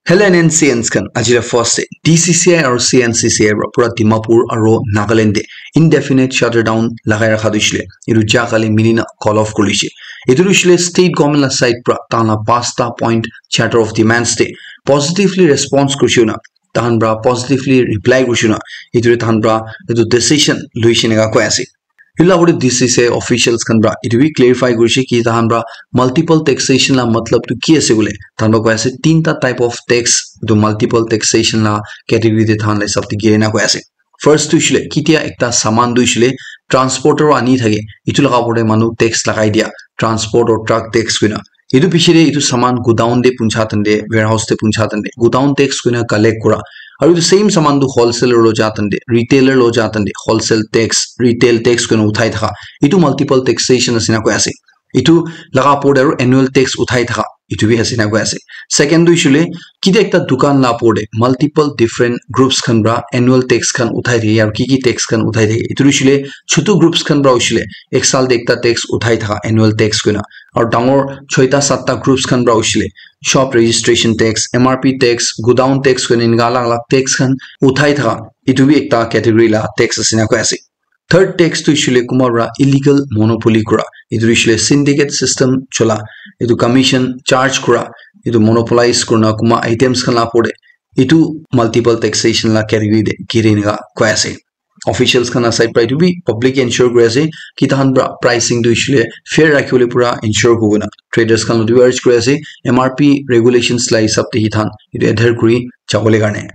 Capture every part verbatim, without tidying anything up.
Hello N N C Ns khan, ajira first day D C C I aru C N C C I para pura Dimapur aru Nagaland te indefinite shutdown lagai rakha tu hoishe le, etu ja kali milina call off kuri she. Etu tu hoishe le state government la side para tahan la pasta point charter of demands te positively response kurishe na, tahan para positively reply kurishe na, etu tahan para etu decision luishe nega koi ase. Etu la D C C I officials khan para etu bi clarify kurishe ki tahan para multiple taxation la matlab tu ki ase bole. Tahan para koi ase tinta type of tax, etu multiple taxation la category te tahan la hisab te gire na koi ase. First tu hoishe le kitia ekta saman tu hoishe le transporter ani thake, etu laga opor te manu tax lagai dia, transport or truck tax koina. Etu piche te etu saman godown te puncha tante, warehouse te puncha tante, godown tax koina collect kura. Aru etu same saman tu wholesaler lo ja tante, retailer lo ja tante, wholesale tax, retail tax koina uthai thaka. Etu multiple taxation ase na koi ase. Etu laga opor te aru annual tax uthai thaka. Etu bi ase na koi ase. Second tu hoishe le kitia ekta dukan la opor te multiple different groups khan para annual tax khan uthai thake aru ki ki tax khan uthai thake. Etu hoishe le chutu groups khan para hoishe le ek saal te ekta tax uthai thaka annual tax koina. Aru dangor choita satta groups khan para hoishe le shop registration tax, M R P tax, godown tax koina enika alag alag tax khan uthai thaka. Etu bi ekta category la tax ase na koi ase. Third tax tu hoishe le kunba para illegal monopoly kura. Etu hoishe le syndicate system chola. Etu commission charge kura. Etu monopolize kurina kunba items khan la opor te. Etu multiple taxation la category te gire enika koi ase. Officials khan la side para etu bi public ensure kuri ase ki tahan para pricing tu hoishe le fair rakhi bole pura ensure kuri na. Traders khan lo tu urge kuri ase M R P regulations la hisab te hi tahan etu adhere kuri jabole karne.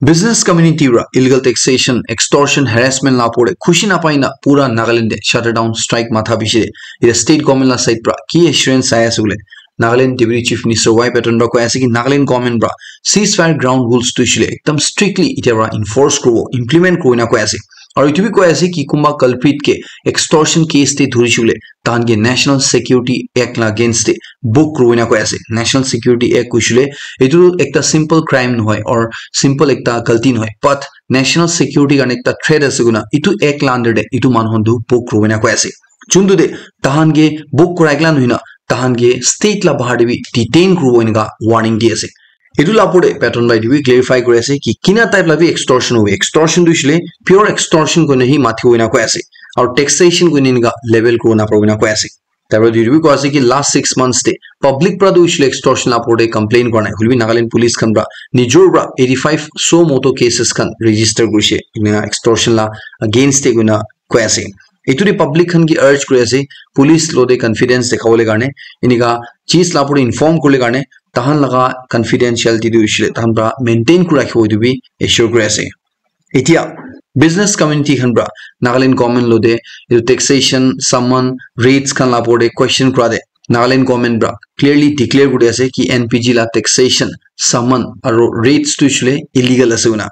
Business community para illegal taxation, extortion, harassment la opor te khushi napai na pura Nagaland te shutdown strike matha bishi de. Etu state government la side para ki assurance ahi ase bole. Nagaland Deputy Chief Minister Y Patton para koi ase ki Nagaland government para ceasefire ground rules tu hoishe le ekdam strictly etia para enforce kuribo, implement kuribo na koi ase. Aru etu bi koi ase ki kunba culprit ke extortion case te dhurishe bole tahan ke National Security Act la against te book kuribo na koi ase. National Security Act hoishe le etu ekta simple crime nohoi or simple ekta galti nohoi, but national security karne ekta threat ase koina etu act la under te etu manu khan tu book kuribo na koi ase. Chuntu te tahan ke book kurai kala nohoi na tahan ke state la bahar te bi detain kuribo enika warning di ase. Etu la opor te Patton para etu bi clarify kuri ase ki kina type la bi extortion hobo. Extortion tu hoishe le pure extortion koina hi mati hoina koi ase. Aru taxation koina enika level kuribo na paribo na koi ase. Tar para etu bi koi ase ki last six months te public para tu hoishe le extortion la opor te complain kura nai. Hoile bi Nagaland police khan para nijor para eighty five suo motu cases khan register kurishe. Enika extortion la against te koina koi ase. Etu te public khan ke urge kuri ase, police lo te confidence dekhabole karne, enika cheez la opor te inform kuribole karne, tahan laga confidentiality tu hoishe le tahan para maintain kuri rakhibo etu bi assure kuri ase. Etia business community khan para Nagaland government lo te etu taxation, summon, raids khan la opor te question kura te Nagaland government para clearly declare kuri ase ki N P G la taxation, summon aru raids tu hoishe le illegal ase koina.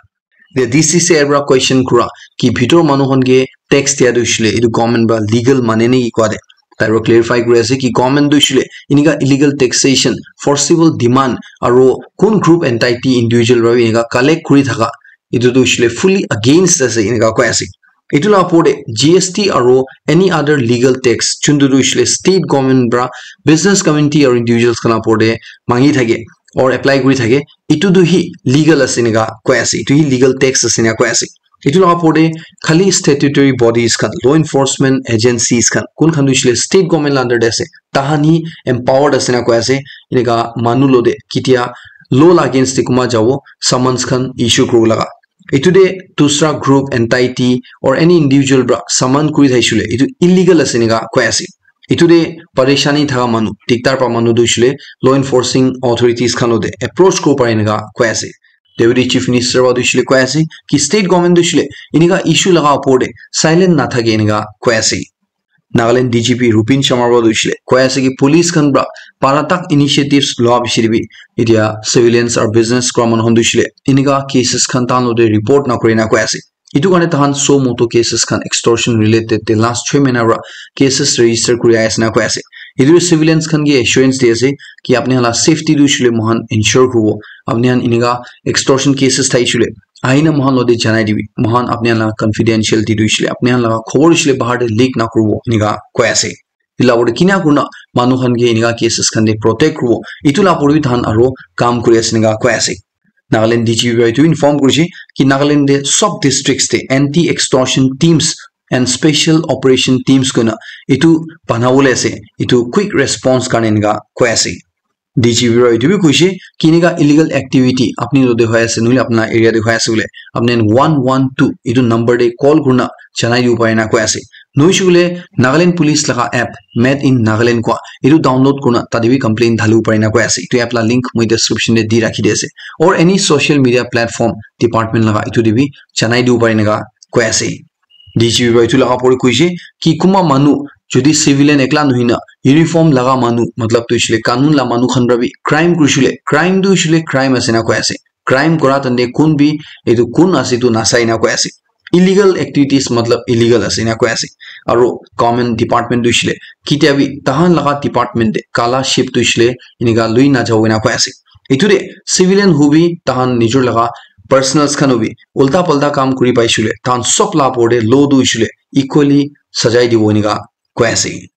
The D C C I para question kura ki bhitor manu khan ke tax dia tu hoishe le etu government para legal mane ne ki koi de. Tai para clarify kuri ase ki government tu hoishe le enika illegal taxation, forcible demand aru kun group entity individual para bi enika collect kuri thaka etu tu hoishe le fully against ase enika koi ase. Etu la opor te G S T aru any other legal tax chuntu tu hoishe le state government para business community aru individuals khan la opor te mangi thake or apply kuri thake, etu tu hi legal ase enika koi ase, etu hi legal tax ase enika koi ase. Etu la opor te khali statutory bodies khan, law enforcement agencies khan, kun khan tu hoishe le state government la under te ase, tahan hi empowered ase enika koi ase, enika manu lo te kitia law la against te kunba jabo summons khan issue kuribo laga. Etu te dusra group, entity or any individual para summon kuri thaishe le etu illegal ase enika koi ase. Etu te parishani thaka manu, diktar pa manu tu hoishe le law enforcing authorities khan lo te approach kuribo pare enika koi ase. Deputy Chief Minister para tu hoishe le koi ase ki state government tu hoishe le enika issue laga opor te silent nathake enika koi ase. Nagaland D G P Rupin Sharma para tu hoishe le koi ase ki police khan para para tak initiatives loa bishi te bi etia civilians aru business kura manu khan tu hoishe le enika cases khan tahan lo te report nakuri na koi ase. Etu karne tahan suo motu cases khan extortion related te last chhe mahina para cases register kuri ahi ase na koi ase. Etu civilians khan ke assurance di ase ki apni khan la safety tu hoishe le moikhan ensure kuribo. Apni khan enika extortion cases thaishe le ahina moikhan lo te janai dibi. Moikhan apni khan la confidentiality tu hoishe le, apni khan la khobor hoishe le bahar te leak nakuribo enika koi ase. etu la opor te kina kurina manu khan ke enika cases khan te protect kuribo, etu la opor te bi tahan aro kam kuri ase enika koi ase. Nagaland D G P para etu inform kurishe ki Nagaland te sub districts te anti extortion teams and special operation teams koina etu banabole ase, etu quick response karne enika koi ase. D G P para etu bi koishe ki enika illegal activity apni lo de hoi ase nohole apna area de hoi ase bole apni one one two etu number de call kurina janai dibo pare na koi ase. Nohoishe koile Nagaland Police laga app Made in Nagaland kua etu download kurina tate bi complaint dhalibo pare na koi ase. Etu app la link moi description de di rakhi di ase. Or any social media platform department laga etu de bi janai dibo pare enika koi ase. D G P para etu laga opor te koishe ki kunba manu jodi civilian ekla nohoi na uniform laga manu matlab tu hoishe le kanun la manu khan para bi crime kurishe le crime tu hoishe le crime ase na koi ase. Crime kura tante kun bi etu kun ase etu nasai na koi ase. Illegal activities matlab illegal ase na koi ase. Aro government department tu hoishe le ketia bi tahan laga department de kala sheep tu hoishe le enika lui na jabo na koi ase. Etu de civilian hobi tahan nijor laga personals khan hobi ulta palta kam kuri paishe le tahan sob la opor de law tu hoishe le equally sajai dibo enika koi ase.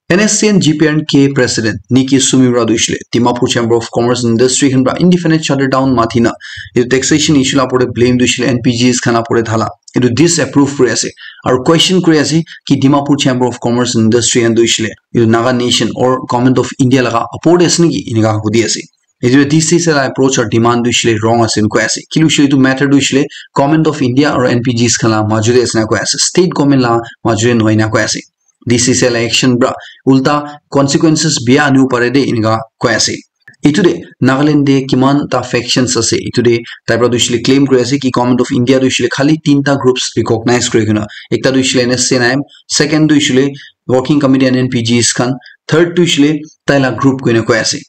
N S C N G P and K President Niki Sumira tu hoishe le Dimapur Chamber of Commerce and Industry khan para indefinite shutdown mathi na etu taxation issue la opor de blame tu hoishe le N P Gs khan la opor de dhala etu disapprove kuri ase. Aro question kuri ase ki Dimapur Chamber of Commerce and Industry khan tu hoishe le etu Naga Nation or Government of India laga opor de ase niki enika hudi ase. Etu D C C L approach or demand tu hoishe le wrong ase koi ase. Kile hoishe le etu matter tu hoishe le Government of India or N P Gs khan la majo de ase na koi ase. State government la majo de nohoi na koi ase. D C C L action para ulta consequences bia anibo pare de enika koi ase. Etu de Nagaland de kiman ta factions ase. Etu de tai para tu hoishe le claim kuri ase ki Government of India tu hoishe le khali tinta groups recognize kuri kena. Ekta tu hoishe le N S C N I M, second tu hoishe le Working Committee and N P Gs khan, third tu hoishe le tai la group koina koi ase.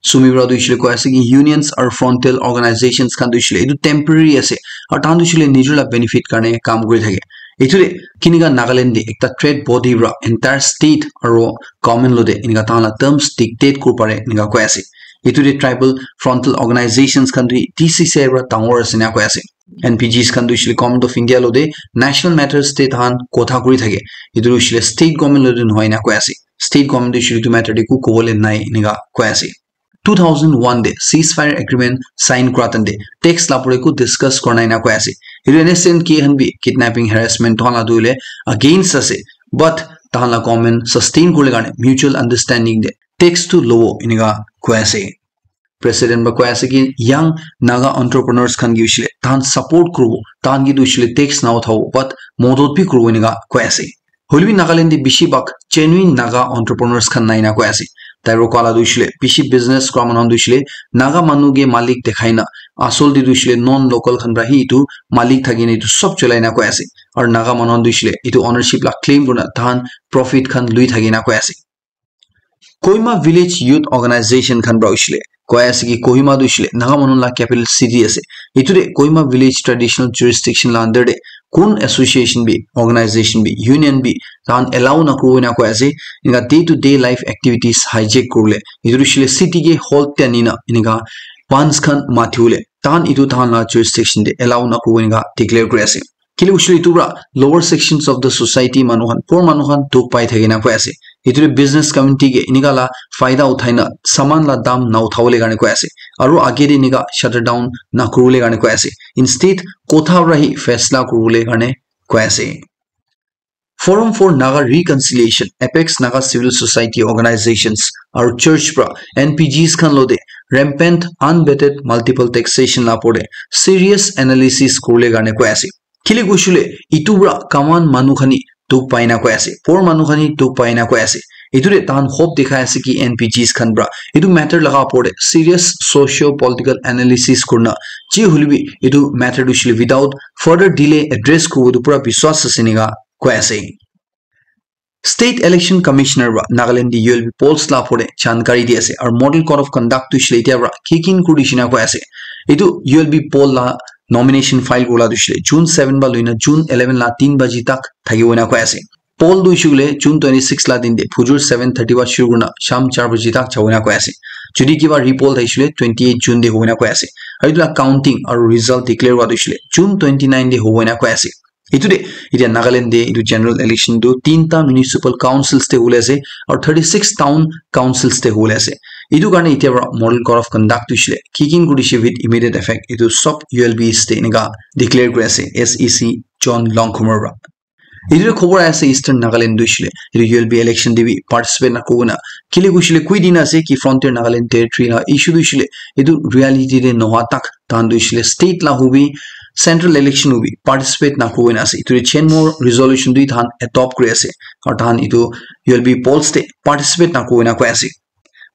Sumira tu hoishe le koi ase ki unions or frontal organizations khan tu hoishe le etu temporary ase. Aru tahan tu hoishe le nijor la benefit karne kam kuri thake. Etu de kinika Nagaland de ekta trade body para entire state aro government lo de enika tahan la terms dictate kuri pare enika koi ase. Etu de tribal frontal organizations khan tu D C C I para dangor ase enika koi ase. N P Gs khan tu hoishe le Government of India lo de national matters de tahan kotha kuri thake. Etu tu hoishe le state government lo de nohoi enika koi ase. State government tu hoishe le etu matter de eku kobole nai enika koi ase. Two thousand one de ceasefire agreement sign kura tante tax la opor de eku discuss kura nai enika koi ase. Etu N S C N K khan bi kidnapping harassment tahan la tu hoile against ase. But tahan la government sustain kuribole karne mutual understanding de tax tu lobo enika koi ase. President para koi ase ki young Naga entrepreneurs khan ke hoishe le tahan support kuribo, tahan ke tu hoishe le tax na uthabo, but modot bi kuribo enika koi ase. Hoile bi Nagaland de bishi bhag genuine Naga entrepreneurs khan nai enika koi ase. Tai para koa la tu hoishe le bishi business kura manu khan tu hoishe le Naga manu ke malik dekhai na asol de tu hoishe le non local khan para hi etu malik thaki na etu sob cholai enika koi ase. Aru Naga manu khan tu hoishe le etu ownership la claim kurina tahan profit khan lui thaki enika koi ase. Kohima Village Youth Organization khan para hoishe le koi ase ki Kohima tu hoishe le Naga manu la capital city ase. Etu de Kohima Village Traditional Jurisdiction la under de kun association bi, organization bi, union bi tahan allow na kuribo enika koi ase. Enika day to day life activities hijack kuribole etu tu hoishe le city ke hold te ani na enika bans khan mathi bole tahan etu tahan la jurisdiction de allow na kuribo enika declare kuri ase. Kile hoishe le etu para lower sections of the society manu khan, poor manu khan dukh pai thake enika koi ase. Etu tu business community ke enika la faida uthai na saman la dam na uthabole karne koi ase. Aru age de enika shutdown na kuribole karne koi ase. Instead, kotha para hi faisla kuribole karne koi ase. Forum for Naga Reconciliation, Apex Naga Civil Society Organizations aru church para N P Gs khan lo de rampant unvetted multiple taxation la opor de serious analysis kuribole karne koi ase. Kile koishe le etu para common manu khan hi dukh pai enika koi ase, poor manu khan hi dukh pai enika koi ase. Etu de tahan hope dikhai ase ki N P Gs khan para etu matter laga opor de serious socio political analysis kurina je hoile bi etu matter tu hoishe le without further delay address kuribo etu pura biswas ase enika koi ase. State Election Commissioner para Nagaland de U L B polls la opor de jankari di ase aru model code of conduct tu hoishe le etia para kick in kuri dishe enika koi ase. Etu U L B poll la nomination file kuribole tu hoishe le June seven para loina June eleven la tin baji tak thakibo enika koi ase. Poll tu hoishe koile June twenty six la din de phujur seven thirty para shuru kurina sham char baji tak jabo enika koi ase. Jodi kiba repoll thakishi koile twenty eight June de hobo enika koi ase. Aru etu la counting aru result declare hua tu hoishe koile June twenty nine de hobo enika koi ase. Itu de, itia Nagaland de itu general election tu tinta municipal councils te hule ase, aru thirty six town councils te hule ase. Itu karne itia para model code of conduct tu shile kikin kuri shi with immediate effect itu sob U L Bs te enika declare kuri ase S E C John Longkhumer para. Itu khobor ase Eastern Nagaland tu shile itu U L B election de bi participate na kona kile kushile kui dina ase ki Frontier Nagaland Territory la issue tu shile itu reality de noha tak tahan tu shile state la hubi central election hubi participate na kona ase itu chen more resolution tu tahan adopt kuri ase aru tahan itu U L B polls te participate na kona koi ase.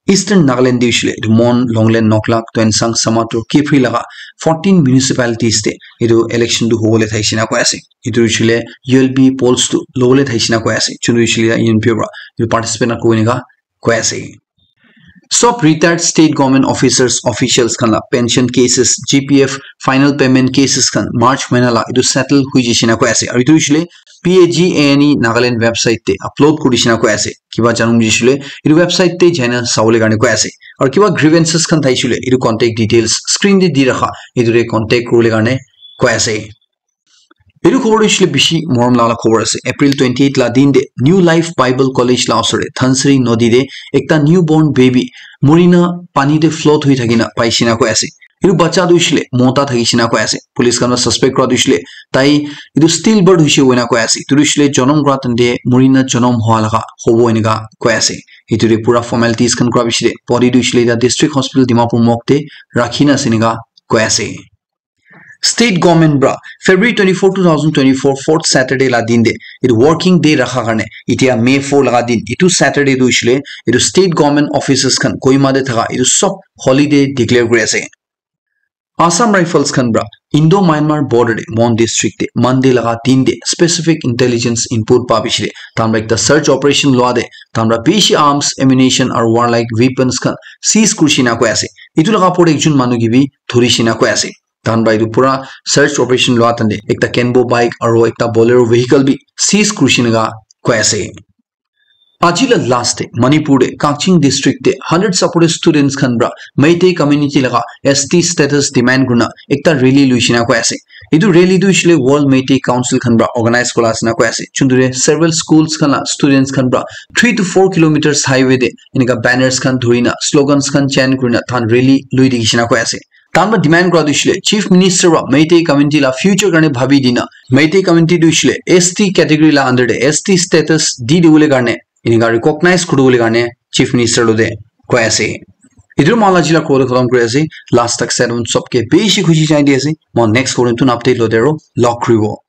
Eastern Nagaland de shile itu Mon, Longlen, Noklak, Tuensang, Samatur, Kiphire laga fourteen municipalities te itu election tu hobole thaishe na koi ase. Itu shile U L B polls tu lobole thaishe na koi ase. Chunu shile Union Bureau itu participate na koi nega koi ase. Sob retired state government officers, officials khan la pension cases, G P F final payment cases khan March mahina la itu settle hui jishe na koi ase. Aru itu shile P A G A N E Nagaland website te upload kuri dishina koi ase. Kiba janum jisile itu website te jaina sawole karne koi ase. Aru kiba grievances khan thaisile itu contact details screen te di rakha itu te contact kurole karne koi ase. Itu khobor tu shile bishi morom lala khobor ase. April twenty eight la din de New Life Bible College la osore Thansri nodi de ekta newborn baby murina pani te float hui thakina paishina koi ase. Itu bacha tu shile mota thakishina koi ase. Police khan suspect kura tu shile tai itu stillbirth hoise koina koi ase. Itu tu shile jonom kura tante murina jonom hoa laga hobo enika koi ase. Itu de pura formalities khan kura bishi de body tu shile ta district hospital Dimapur morgue te rakhina ase enika koi ase. State government bra February twenty four, two thousand twenty four, fourth Saturday la din de itu working day rakha karne itia May four laga din itu Saturday tu shile itu state government offices khan Kohima de thaka itu sob holiday declare kuri ase. Assam Rifles khan bra Indo Myanmar border de Mon district de Monday laga din de specific intelligence input pa bishi de tahan bra ekta search operation lua de tahan bra bishi arms, ammunition aru warlike weapons khan seize kurishina koi ase. Itu laga por ekjon manu ke bi dhurishina koi ase. Tahan bra itu pura search operation lua tante ekta Kenbo bike aru ekta Bolero vehicle bi seize kurishina koi ase. Aji la last te Manipur de Kakching district de hundred supported students khan bra Meitei community laga S T status demand kurna ekta rally luishina koi ase. Itu rally tu shile World Meitei Council khan bra organize kula asina koi ase. Chundure several schools khan la students khan bra three to four kilometers highway de enika banners khan dhurina slogans khan chant kurina tahan rally lui dikishina koi ase. Tahan bra demand kura tu shile Chief Minister bra Meitei community la future karne bhabi dina Meitei community tu shile S T category la under de S T status di dibole karne enika recognize kuri dibole karne Chief Minister lo de koi ase. Itu mala jila kore khatam kuri ase. Last tak set on sob ke bishi khushi jai di ase. Mo next korin tun update lo de ro log kuri bo.